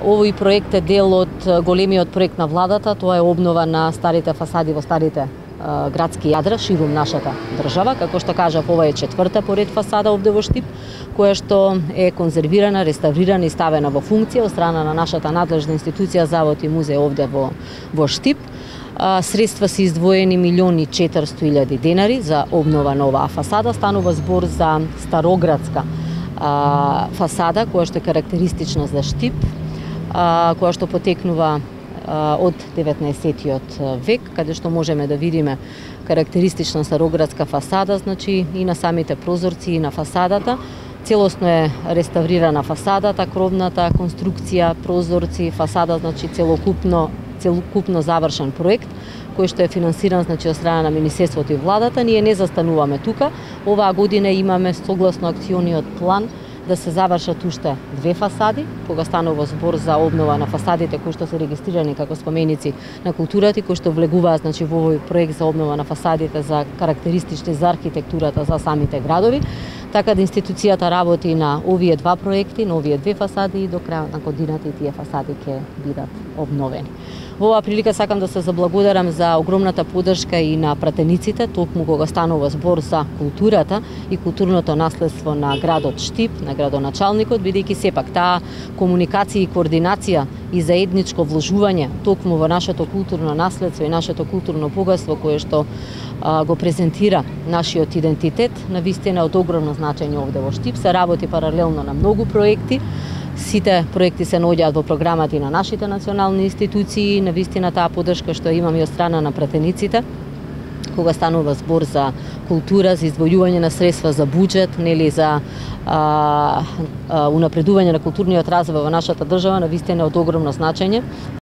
Овој проект е дел од големиот проект на владата, тоа е обнова на старите фасади во старите градски јадра ширум нашата држава. Како што кажав, ова е четврта поред фасада овде во Штип, која што е конзервирана, реставрирана и ставена во функција од страна на нашата надлежна институција Завод и музеј овде во Штип. Средства се издвоени 1.400.000 денари за обнова на оваа фасада. Станува збор за староградска фасада, која што е карактеристична за Штип, која што потекнува од 19-тиот век, каде што можеме да видиме карактеристична староградска фасада, значи и на самите прозорци и на фасадата. Целосно е реставрирана фасадата, кровната конструкција, прозорци, фасада, значи целокупно завршен проект кој што е финансиран, значи, од страна на Министерството и владата. Ние не застануваме тука. Оваа година имаме согласно акциониот план да се завршат уште 2 фасади, кога станува збор за обнова на фасадите кои што се регистрирани како споменици на културата и кои што влегуваат, значи, во овој проект за обнова на фасадите за карактеристични за архитектурата за самите градови. Така да институцијата работи на овие 2 проекти, на овие 2 фасади и до крајот на годината и тие фасади ќе бидат обновени. Во оваа прилика сакам да се заблагодарам за огромната поддршка и на пратениците, токму кога станува збор за културата и културното наследство на градот Штип, на градоначалникот, бидејќи сепак таа комуникација и координација и заедничко вложување токму во нашето културно наследство и нашето културно богатство кое што го презентира нашиот идентитет, навистина од огромно значење овде во Штип. Се работи паралелно на многу проекти. Сите проекти се наоѓаат во програмата и на нашите национални институции. Навистина таа поддршка што имаме од страна на пратениците, кога станува збор за култура, за издвојување на средства за буџет, нели, за унапредување на културниот развој во нашата држава, навистина од огромно значење.